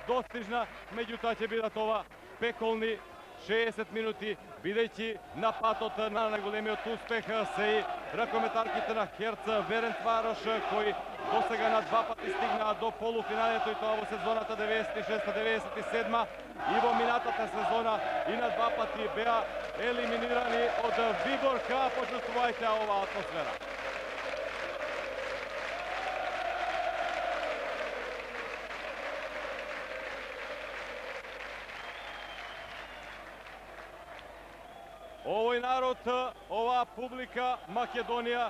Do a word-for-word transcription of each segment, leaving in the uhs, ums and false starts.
достижна, меѓутоа ќе бидат ова пеколни шеесет минути, бидејќи на патот на најголемиот успех се и ракометарките на Херц Ференцварош, кои досега на два пати стигнаа до полуфиналето, и тоа во сезоната деветдесет и шеста деветдесет и седма, и во минатата сезона и на два пати беа елиминирани од Виборка. Почувствувајте оваа атмосфера. Овој народ, оваа публика, Македонија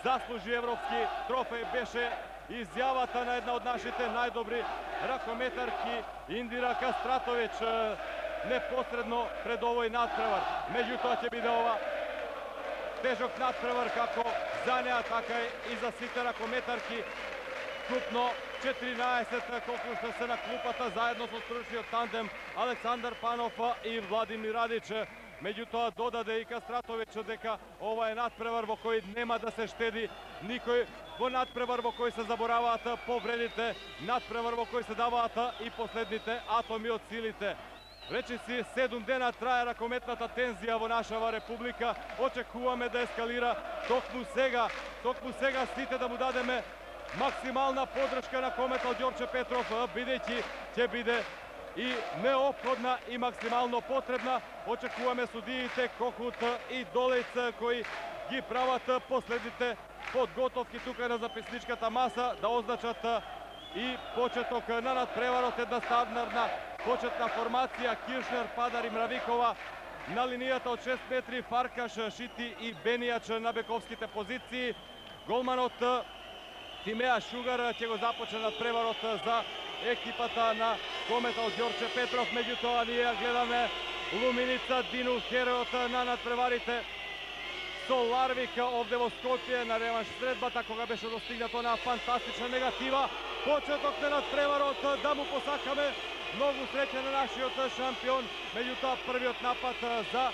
заслужи европски трофеј, беше изјавата на една од нашите најдобри ракометарки Индира Кастратовиќ непосредно пред овој надпревар. Меѓутоа ќе биде ова тежок надпревар како за неа, така и за сите ракометарки. Вкупно четиринаесет колку што се на клупата заедно со стручниот тандем Александар Панов и Владимир Радич. Меѓутоа додаде и Кастратовиќ дека ова е надпревар во кој нема да се штеди никој, во надпревар во кој се забораваат повредите, надпревар во кој се даваат и последните атоми од силите. Речиси седум дена трае ракометната тензија во нашава република. Очекуваме да ескалира токму сега, токму сега сите да му дадеме максимална подршка на кометал Ѓорче Петров, бидејќи ќе биде и неопходна и максимално потребна. Очекуваме судиите Кохут и Долец, кои ги прават последните подготовки тука на записничката маса, да означат и почеток на надпреварот. Една стандардна почетна формација: Киршнер, Падар и Мравикова на линијата од шест метри, Фаркаш, Шити и Бенијач на бековските позиции. Голманот Тимеа Шугар ќе го започне надпреварот за екипата на кометал Ѓорче Петров. Меѓутоа ние гледаме Луминица Дину, херојот на надпреварите со Ларвик овде во Скопје на реванш средбата, кога беше достигнато на фантастична негатива. Почеток на надпреварот, да му посакаме многу среќа на нашиот шампион. Меѓутоа првиот напад за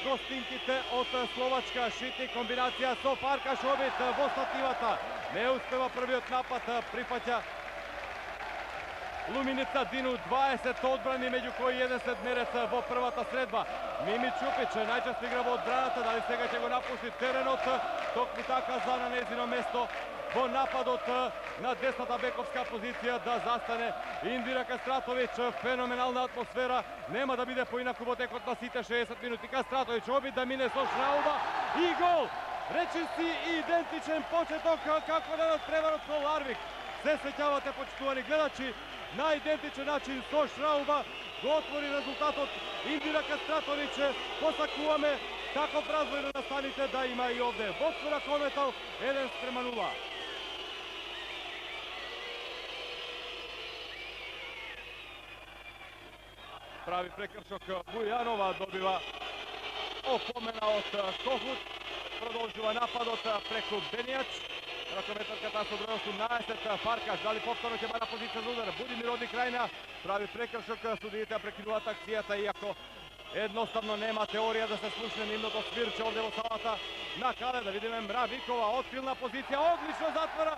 гостинките од Словачка. Шити комбинација со Фаркаш, обид во стативата. Не успева првиот напад, прифаќа Луминица Дину, дваесет одбрани, меѓу кои еден седмерец во првата средба. Мими Чупич најчесто игра во одбраната, дали сега ќе го напушти теренот, токму така за на нејзино место во нападот на десната бековска позиција да застане Индира Кастратовиќ. Феноменална атмосфера, нема да биде поинаку во текот на сите шеесет минути. Кастратовиќ обид да мине со шрауба и гол. Речиси идентичен почеток како на надпреварот со Ларвик. Се сеќавате, почитувани гледачи, на идентичен начин со шрауба го отвори резултатот Индира Кастратовиќ. Посакуваме таков развој на настаните да има и овде. Водство на кометал еден спрема нула. Прави прекршок Бујанова, добива опомена од Кохут. Продолжува нападот преку Бенијач. Ракометарката со број осумнаесет, Фаркаш, дали повторно ќе бара позиција за удар. Будимир оди крајна, прави прекршок, судиите прекинуваат акцијата, иако едноставно нема теорија да се слушне нивното свирче овде во салата на Кале. Да видиме Мравикова, открилна позиција, одлично затвора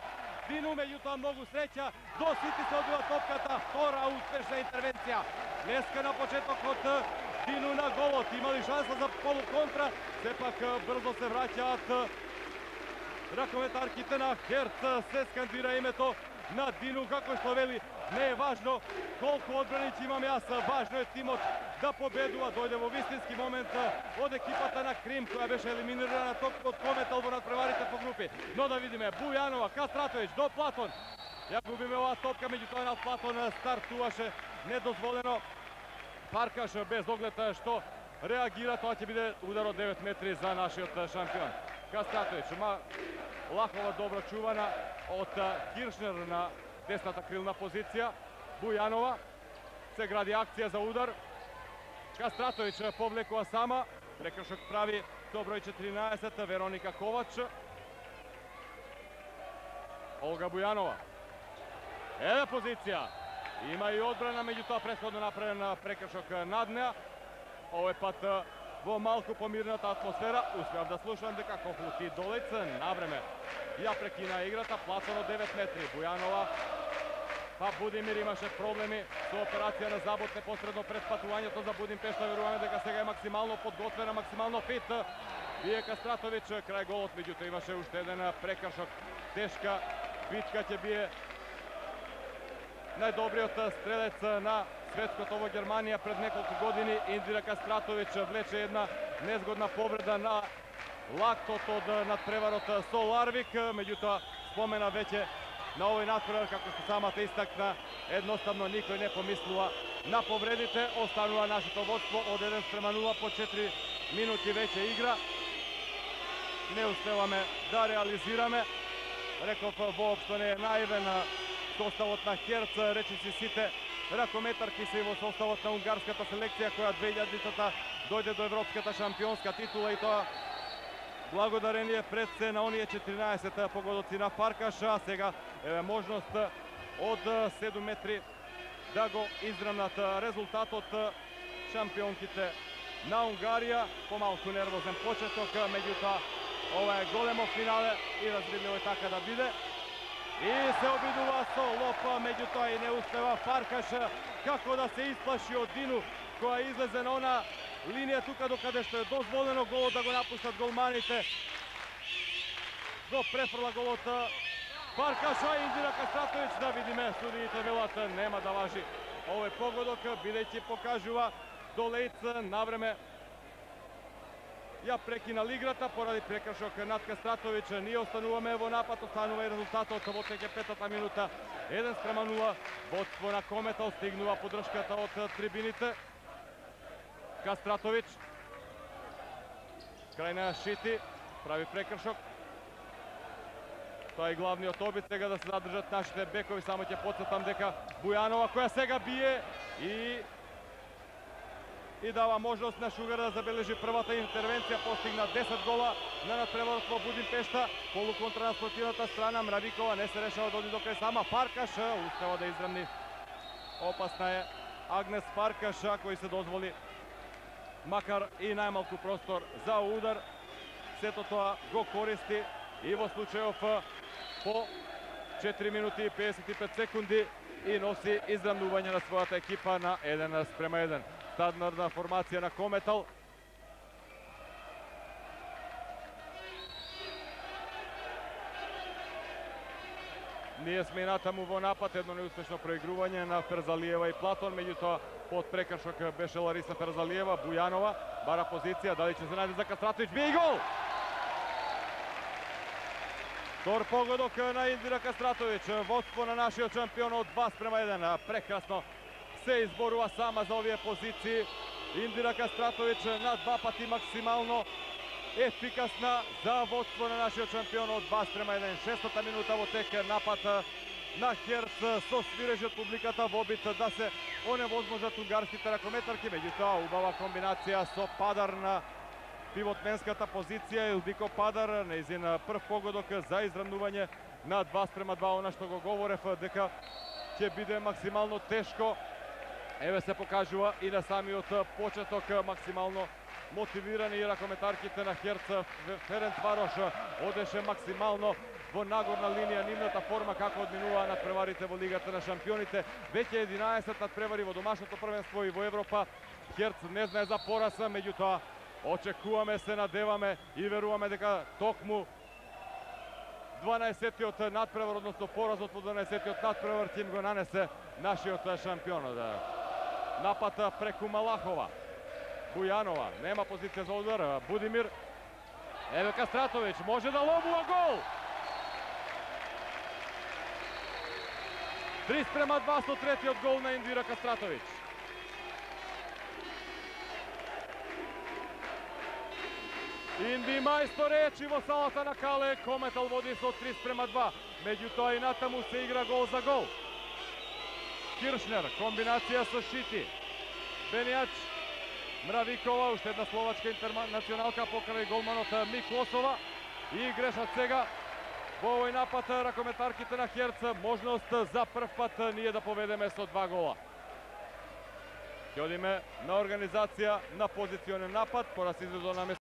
Дину, меѓутоа многу среќа, до сити се одбива топката, втора успешна интервенција. Днеска на почетокот Дину на голот, имали шанса за полуконтра, сепак брзо се враќаат ракометарките на Херц. Се скандира името на Дину, како што вели, не е важно колку одбрани ќе имаме јас, важно е тимот да победува. Дојде во вистински момент од екипата на Крим, која беше елиминирана токму од кометал во надпреварите по групи. Но да видиме Бујанова, Кастратовиќ до Платон. Ја губиме оваа топка, меѓутоа на Платон стартуваше недозволено. Фаркаш без оглед што реагира, тоа ќе биде удар од девет метри за нашиот шампион. Кастратовиќ, ма лахова добро чувана од Киршнер на десната крилна позиција. Бујанова, се гради акција за удар. Кастратовиќ повлекува сама, прекршок прави со број четиринаесет Вероника Ковач. Олга Бујанова. Еде позиција. Има и одбрана, меѓутоа претходно направен прекршок над неа. Овој пат во малку помирната атмосфера. Успеав да слушам дека Кохут и Долец навреме ја прекина играта. Платон од девет метри. Бујанова па Будимир имаше проблеми со операција на забот непосредно пред патувањето за Будимпешта. Веруваме дека сега е максимално подготвена, максимално фит. Бие Кастратович крај голот, меѓутоа имаше уште еден прекршок. Тешка битка ќе бие најдобриот стрелец на светското во Германија пред неколку години. Индира Кастратович влече една незгодна повреда на лактот од надпреварот со Ларвик, меѓутоа спомена веќе на овој надпревар, како што самата истакна, едноставно никој не помислува на повредите. Останува нашето водство од еден спрема нула по четири минути веќе игра. Не успеваме да реализираме. Реков, воопшто не е наивен составот на Херц, речиси сите ракометарки се и во составот на унгарската селекција која две илјадницата дојде до европската шампионска титула, и тоа благодарение пред се на оние четиринаесет погодоци на Фаркаш. А сега е можност од седум метри да го израмнат резултатот шампионките на Унгарија. Помалку нервозен почеток, меѓутоа ова е големо финале и разбирливо е така да биде. И се обидува со лоп, меѓутоа и не успева Фаркаш како да се исплаши од Дину, која излезе на она линија тука докаде што е дозволено голот да го напуштат голманите. Го префрла голот Фаркаша. Индира Кастратович, да видиме, судиите велат нема да важи овој погодок, бидејќи покажува Долејц навреме ја прекинал играта поради прекршок над Кастратович. Ние остануваме во напад, останува и резултатот во петата минута. еден спрема нула, водство на Кометал, стигнува поддршката од трибините. Кастратович крај на Шити прави прекршок. Тоа е главниот обид сега да се задржат нашите бекови. Само ќе потсетам дека Бујанова, која сега бие и и дава можност на Шугар да забележи првата интервенција, постигна десет гола на надпреварот во Будимпешта. Полуконтра на спротивната страна, Мравикова не се решава да оди до крај сама. Фаркаш успева да израмни. Опасна е Агнес Фаркаш, кој се дозволи макар и најмалку простор за удар. Сето тоа го користи и во случајов по четири минути и педесет и пет секунди и носи израмнување на својата екипа на еден спрема еден. Стандардна формација на Кометал. Ние сме и натаму во напад, едно неуспешно проигрување на Ферзалиева и Платон, меѓутоа под прекршок беше Лариса Ферзалиева. Бујанова бара позиција, дали ќе се најде за Кастратович, бие и гол! Втор погодок на Индира Кастратович, водство на нашиот шампион од два спрема еден. Прекрасно се изборува сама за овие позиции. Индира Кастратович на два пати максимално ефикасна за водство на нашиот шампион од два спрема еден. Шестата минута во тек, напад на Херц со свирежи од публиката во обид да се оневозможат унгарските ракометарки, меѓутоа убава комбинација со Падар на пивотменската позиција. Илдико Падар, нејзин прв погодок за израмнување на два спрема два, она што го говорев дека ќе биде максимално тешко. Еве се покажува и на самиот почеток максимално мотивирани ракометарките на Херц. Ференцварош одеше максимално во нагорна линија. Нивната форма како одминуваа надпреварите во Лигата на шампионите. Веќе единаесет надпревари во домашното првенство и во Европа. Херц не знае за пораз, меѓутоа очекуваме, се надеваме и веруваме дека токму дванаесеттиот надпревар, односно поразот во дванаесеттиот надпревар ќе им го нанесе нашиот шампион. Напад преку Малахова. Бујанова, нема позиција за удар. Будимир. Еве Кастратович, може да ловува гол! три спрема два со третиот гол на Индира Кастратович. Инди мајстор речи во салата на Кале. Кометал води со три спрема два. Меѓутоа и натаму се игра гол за гол. Киршнер, комбинација со Шити. Бенијач, Мравикова, уште една словачка интернационалка покрај голманот Миклосова. И грешат сега во овој напад ракометарките на Херц. Можност за прв пат ние да поведеме со два гола. Ќе одиме на организација на позиционен напад, пора се изведу на